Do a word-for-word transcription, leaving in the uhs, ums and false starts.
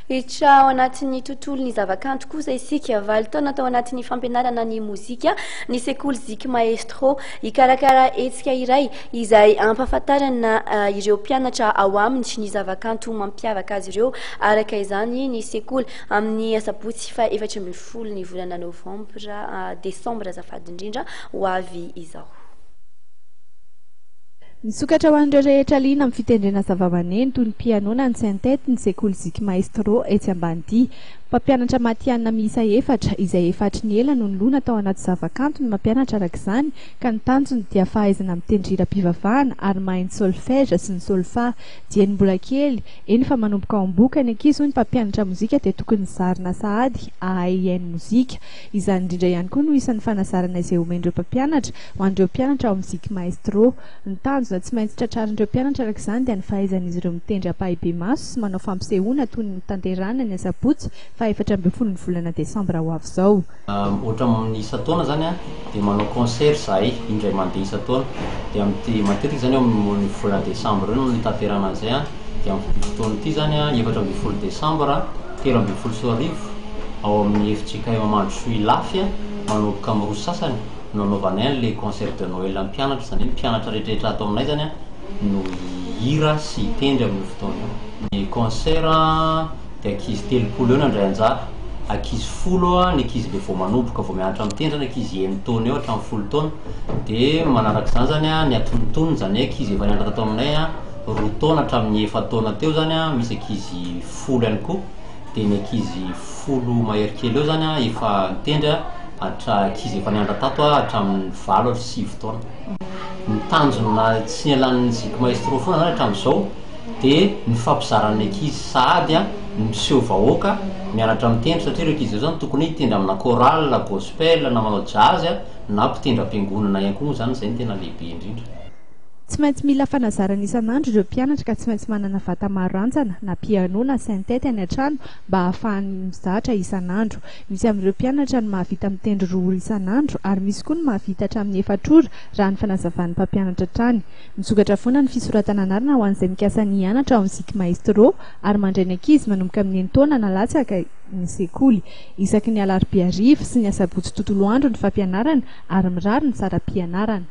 Hiditra ao anatin'ny tontolo ny zavakanto kosa isika. Valo taona tao anatin'ny fampianarana ny mozika ny sekoly Zik Maestro. Hikarakara hetsika iray izay ampahafantarana eh, ireo mpianatra ao aminy ny zavakanto mampiavaka azy ireo araka izany ny sekoly amin'ny asabotsy fa efatra ambin'ny folo ny volana novambra, eh, desambra azafady indrindra, ho avy izao. Misokatra ho an'ireo rehetra liana amin'ny fitendrena zavamaneno toy ny piano na ny synthéte ny sekoly Zik Maestro etsy Ambanidia. Mpampianatra matihanina miisa efatra izay efa hatry ny ela no nilona tao anaty zavakanto ny mampianatra araka izany, ka ny tanjony dia fahaizana mitendry hiram-pivavahana ary mahay ny solfège sy ny solfa. Dieny mbola kely, eny fa manomboka ao am-bohoka ny ankizy, hoy ny mpampianatra mozika, dia tokony zarina sahady ahay hihaino mozika. Izany indrindra ihany koa no isan'ny fanazarana izay omen'ireo mpampianatra ho an'ireo mpianatra ao amin'ny Zik Maestro. Ny tanjona tsy maintsy tratrarin'ireo mpianatra araka izany dia ny fahaizan'izy ireo mitendry ampahibemaso sy manao fampisehoana toy ny notanterahina ny asabotsy fa efatra ambin'ny folo ny volana desambra ho avy izao. Ohatra amin'ny isan-taona zany a dia manao concert zahay indray mandeha isan-taona, dia amin'ity matetika zany eo amin'ny volana desambra eo no nitanterana an'izay a. Dia amin'ny fotoana ity zany a, efatra ambin'ny folo desambra telo ambin'ny folo sy roa arivo ao amin'ny F J K M Mandrosoa Ilafy a, manomboka amin'ny roa sasany no anaovanay an'le concert de Noël mpianatra. Zany hoe mpianatra rehetrarehetra ato aminay zany a no hira sy hitendry amin'io fotoana io. Ny concert dia ankizy telopolo eo no andray anjara, ankizy folo a ny ankizy le vao manomboka, vao mianatra mitendry, ny ankizy eny taona eo hatramin'ny folo taona. Dia manaraka izany zany a ny atonontonony, zany hoe ankizy efa nianatra tato aminay a roa taona hatramin'ny efa taona teo zany a, misy ankizy folo ihany koa. Dia ny ankizy folo mahery kely eo zany a efa nitendry a hatra ankizy efa nianatra tato a hatramin'ny valo ary sivy taona. Ny tanjona tsy nialan'ny Zik Maestro foana zany hatramin'izao dia ny fampizaran'ny ankizy sahady a ny miseho vahoaka mianatra mitendry, satria ireo ankizy ireo zany tokony hitendry amina chorale gospel na manao jazz a na mpitendry am-piangonana ihany koa moa zany. Zay no tena lehibe indrindra. Tsy maintsy mila fanazarana isan'andro ireo mpianatra, ka tsy maintsy manana vata maro rantsana na piano na synthéte any an-trano mba hahafahany mizatra isan'andro. Misy amin'ireo mpianatra ny mahavita mitendry roa ora isan'andro ary misy koa ny mahavita hatramin'ny efatra ora, raha ny fanazavan'ny mpampianatra hatrany. Misokatra foana ny fisoratana anarana ho an'izay mikasa ny hianatra ao amin'ny Zik Maestro ary mandray ny ankizy manomboka amin'ny enin-taona na latsaka ny sekoly. Isaky ny alarobia hariva sy ny asabotsy tontolo andro ny fampianarana ary mirary ny saram-pianarana.